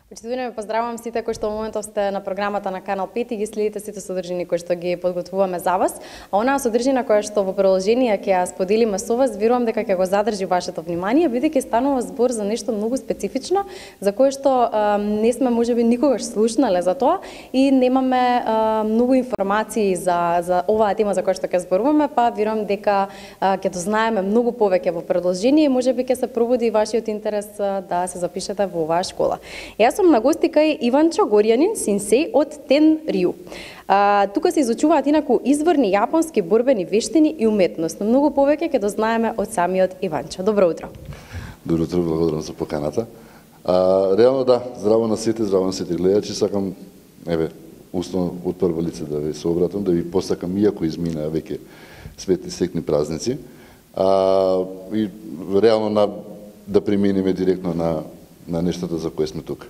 Почитувани, поздравувам сите кои што во моментов сте на програмата на Канал 5 и ги следите сите содржини кои што ги подготвуваме за вас. А онаа содржина која што во продолжение ќе ја споделиме со вас, верувам дека ќе го задржи вашето внимание, бидејќи станува збор за нешто многу специфично, за кое што не сме можеби никогаш слушнале за тоа и немаме многу информации за оваа тема за која што ќе зборуваме, па верувам дека ќе дознаеме многу повеќе во продолжение и можеби ќе се пробуди вашиот интерес да се запишете во оваа школа. Јас сум на гости кај Иванчо Горјанин, синсеј од Тенрю. Тука се изучуваат инаку изворни јапонски борбени вештини и уметност. Но многу повеќе ќе дознаеме од самиот Иванчо. Добро утро. Добро утро, благодарам за поканата. Реално да, здраво на сите гледачи, сакам уствено од прво лице да ви се обратам, да ви посакам, иако изминаа веќе светли секни празници, и реално да преминеме директно на нештата за кои сме тука.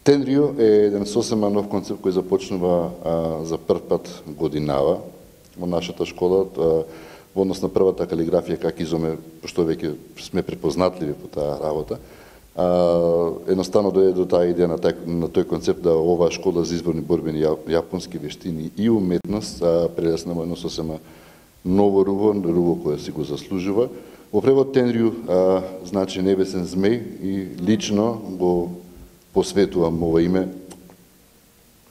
Тенрю е еден сосема нов концепт кој започнува за прв пат годинава во нашата школа, во однос на првата калиграфија как изоме, што веќе сме препознатливи по таа работа. Едноставно дојде до таа идеја на тој концепт да оваа школа за изборни борбени јапонски вештини и уметност прелесна во едно сосема ново руво кое си го заслужува. Во превод Тенрю значи небесен змеј и лично го посветувам ова име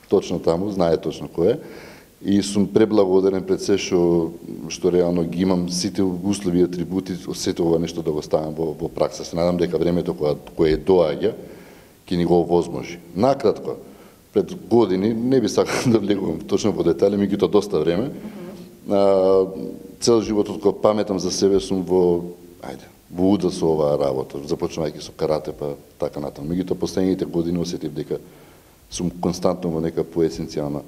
точно таму, знае точно кој е. И сум преблагодарен пред се што реално ги имам сите услови и атрибути, сето ова нешто да го ставам во пракса. Се надам дека времето кое доаѓа ќе ни го овозможи. Накратко, пред години, не би сакал да влегувам точно во детали, меѓутоа доста време, цел животот кога паметам за себе сум во уда со оваа работа, започнувајќи со карате па така натаму. Меѓутоа последните години осетив дека сум константно во нека поесенцијална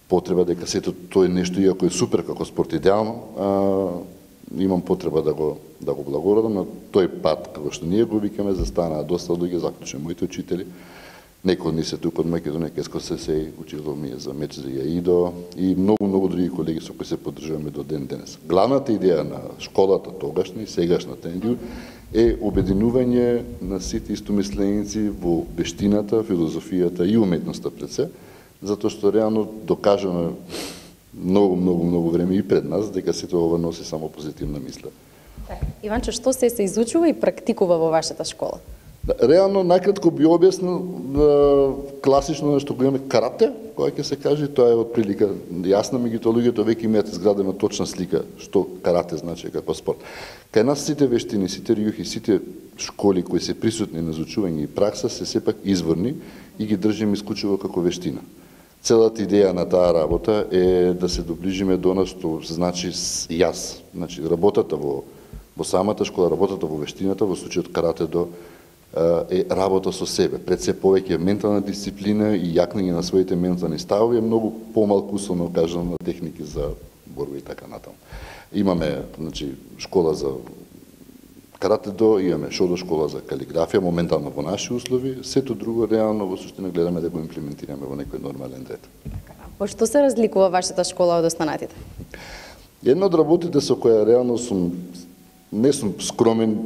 потреба, дека сето тоа нешто, иако е супер како спорт идеално, имам потреба да го благородам на тој пат, како што ние го викаме, застанаа доста луѓе, заклучено моите учители. Некои од нив се тука од Македонија, Кеско Сесеј, учител ми е за меч за Јаидо и многу други колеги со кои се поддржуваме до ден денес. Главната идеја на школата тогашна и сегашна Тенрю е обединување на сите истомисленици во вештината, филозофијата и уметноста пред се, затоа што реално докажано многу време и пред нас дека сето ова носи само позитивна мисла. Иванчо, што се изучува и практикува во вашата школа? Реално, најкратко би објаснил класично нешто го имаме карате, која ќе се каже, тоа е отприлика јасна, меѓутоа луѓето веќе имаат изградена точна слика што карате значи како спорт. Кај нас сите вештини, сите рјухи, сите школи кои се присутни на изучување и пракса се сепак изворни и ги држиме исклучиво како вештина. Целата идеја на таа работа е да се доближиме до нас што значи јас, значи работата во самата школа, работата во вештината, во случајот карате до е работа со себе. Пред се повеќе ментална дисциплина и јакнење на своите ментални ставови, е многу помалку условно кажано на техники за борба и така натаму. Имаме, значи, школа за карате до, имаме шодо школа за калиграфија, моментално во наши услови, сето друго реално во суштина гледаме да го имплементираме во некој нормален ред. По што се разликува вашата школа од останатите? Една од работите со која реално не сум скромен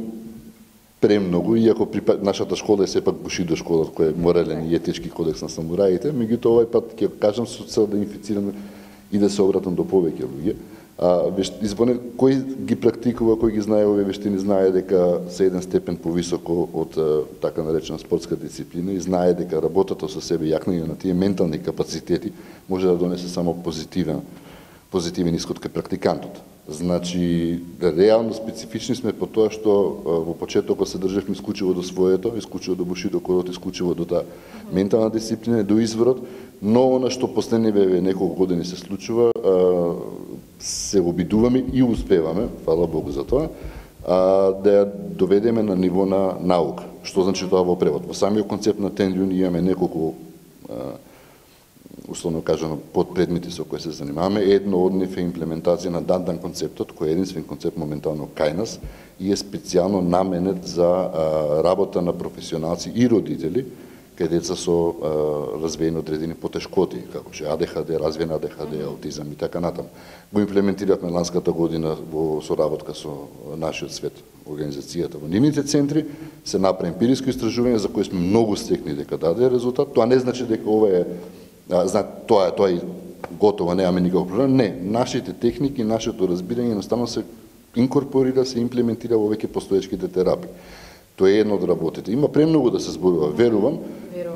премногу, иако нашата школа е сепак Бушидо школа, која е морален и етички кодекс на самураите, меѓутоа овој пат ќе кажам со цел да инфицирам и да се обратам до повеќе луѓе. Кој ги практикува, кој ги знае овие вештини, знае дека се еден степен повисоко од така наречена спортска дисциплина и знае дека работата со себе, јакнење на тие ментални капацитети може да донесе само позитивен исход кај практикантот. Значи, реално специфични сме по тоа што во почетокот се држевме исклучиво до своето, исклучиво до Бушидо кодот, исклучиво до таа ментална дисциплина, до изворот, но она што последниве неколку години се случува, се обидуваме и успеваме, фала Богу за тоа, да ја доведеме на ниво на наука. Што значи тоа во превод? Во самиот концепт на Тенрю имаме неколку условно кажано подпредмети со кои се занимаваме. Едно од нив е имплементација на Дандан концептот, кој е единствен концепт моментално кај нас и е специјално наменет за работа на професионалци и родители кај деца со развиени одредени потешкоти, како што АДХД, развиен АДХД, аутизам и така натаму. Го имплементиравме ланската година во соработка со нашиот свет, организацијата во нивните центри, се направи емпириско истражување за кое сме многу стекни дека даде резултат. Тоа не значи дека ова е тоа е готово, немаме никаков проблем. Не, нашите техники, нашето разбирање едноставно се инкорпорира, се имплементира во веќе постоечките терапии. Тоа е едно од работите. Има премногу да се зборува, верувам,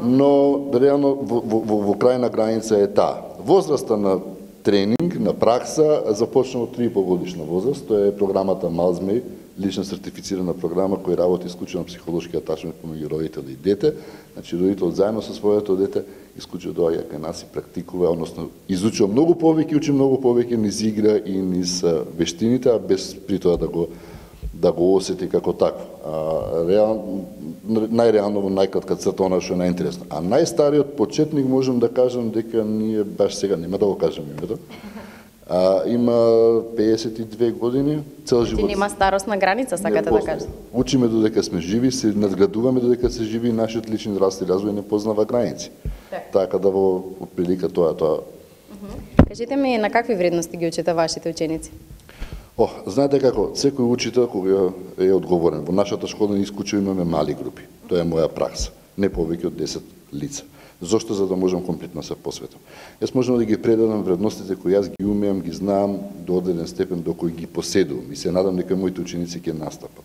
но реално во крајна граница е таа. Возраста на тренинг, на пракса, започна од 3,5 годишна возраст. Тоа е програмата Малзмеј, лична сертифицирана програма која работи исклучено психолошки атачмент помеѓу родител и дете. Значи родителот заедно со своето дете исклучено доаѓа кај нас и практикува, односно изучува многу повеќе, учи многу повеќе низ игра и низ вештините, а без при тоа да го осети како такво. Најреално во најкратка црта она што е најинтересно. А најстариот почетник можам да кажам дека ние баш сега нема да го кажам името. Има 52 години, цел живот. Ти нема старосна граница, сакате да кажете. Учиме додека сме живи, се надградуваме додека се живи, нашиот личен раст и развој не познава граници. Така да во прилика тоа. Кажете ми на какви вредности ги учите вашите ученици? Знаете како, секој учител кога е одговорен. Во нашата школа исклучиво имаме мали групи. Тоа е моја пракса. Не повеќе од 10 лица. Зошто? За да можам комплетно се посветам. Јас можам да ги предадам вредностите кои јас ги умеам, ги знаам до одреден степен до кој ги поседувам и се надам дека моите ученици ќе настапат.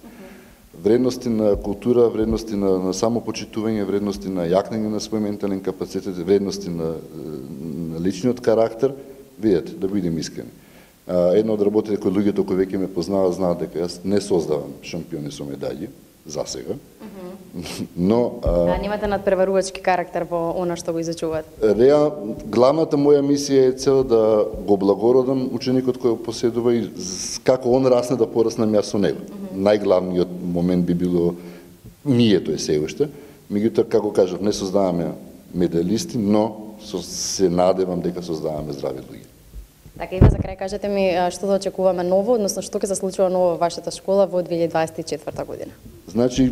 Вредности на култура, вредности на самопочитување, вредности на јакнење на свој ментален капацитет, вредности на личниот карактер, видете, да бидем искрени. Една од работите кои луѓето кои веќе ме познаваат знаат дека јас не создавам шампиони со медаљи за сега. Но немате надпреварувачки карактер во она што го изучувате. Главната моја мисија е цел да го благородам ученикот кој го поседува и како он расне да пораснам јас со него. Најглавниот момент би било мието е се уште. Меѓутоа, како кажав, не создаваме медалисти, но се надевам дека создаваме здрави луѓе. Така, Ива, за крај кажете ми што да очекуваме ново, односно што ќе се случува ново во вашата школа во 2024 година? Значи,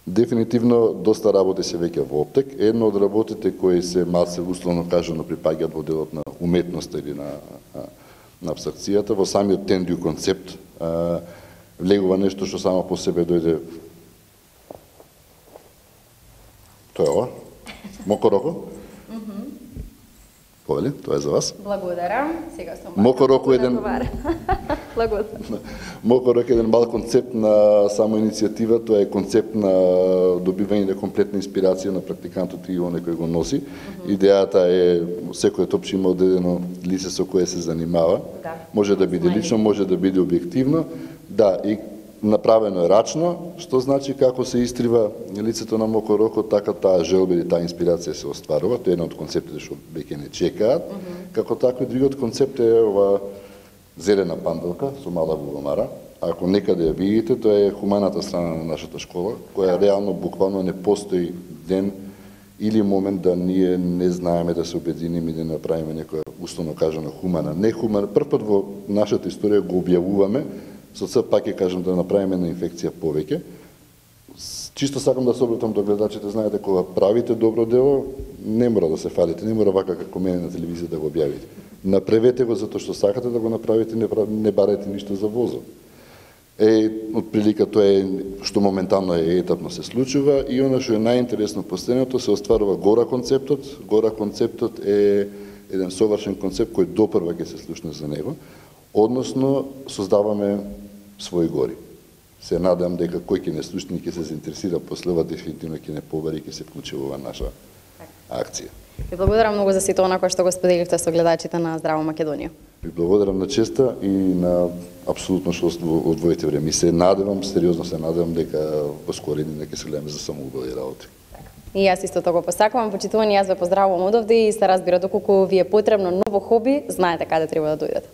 дефинитивно доста работи се веќе во оптек. Едно од работите кои се малце условно кажано припаѓаат во делот на уметноста или на абстракцијата, во самиот тендио концепт влегува нешто што само по себе дојде. Тоа е ова? Мокороко? Повели, тоа е за вас. Благодарам. Сега сум Мокороко еден Благодарам. Мокороко е еден мал концепт на самоиницијатива, тоа е концепт на добивање на комплетна инспирација на практикантот и оној кој го носи. Идејата е секој топче има одредено лице со кое се занимава. Може да биде лично, може да биде објективно. Да, и направено е рачно, што значи како се истрива лицето на Мокороко, така таа желба или таа инспирација се остварува. Тоа е еден од концептите што веќе не чекаат. Како такви, другиот концепт е ова зелена панделка со мала вуломара. Ако некаде ја видите, тоа е хуманата страна на нашата школа, која реално буквално не постои ден или момент да ние не знаеме да се обединиме и да направиме некоја условно кажано хумана, не хумана. Прв пат во нашата историја го објавуваме, со цел пак ќе кажам да направиме на инфекција повеќе. Чисто сакам да се обратам до гледачите, знаете, кога правите добро дело, не мора да се фалите, не мора вака како мене на телевизија да го објавите. Направете го затоа што сакате да го направите, не барете ништо за возот. Од прилика тоа е што моментално е етапно се случува и она што е најинтересно последното се остварува гора концептот. Гора концептот е еден совршен концепт кој допрва ќе се слушне за него, односно создаваме своји гори. Се надам дека кој ќе не слушне ќе се заинтересира после ова, дефинитивно ќе не побари и ќе се вклучи во оваа наша акција. Ви благодарам многу за сето она кое што го споделивте со гледачите на Здраво Македонија. Ви благодарам на честа и на апсолутно што одвоите време. И се надевам, сериозно се надевам дека во скори дни ќе се гледаме за самоубави работи. И јас исто тоа го посакувам. Почитувани, јас ве поздравувам одовде и се разбира доколку ви е потребно ново хоби, знаете каде треба да дојдете.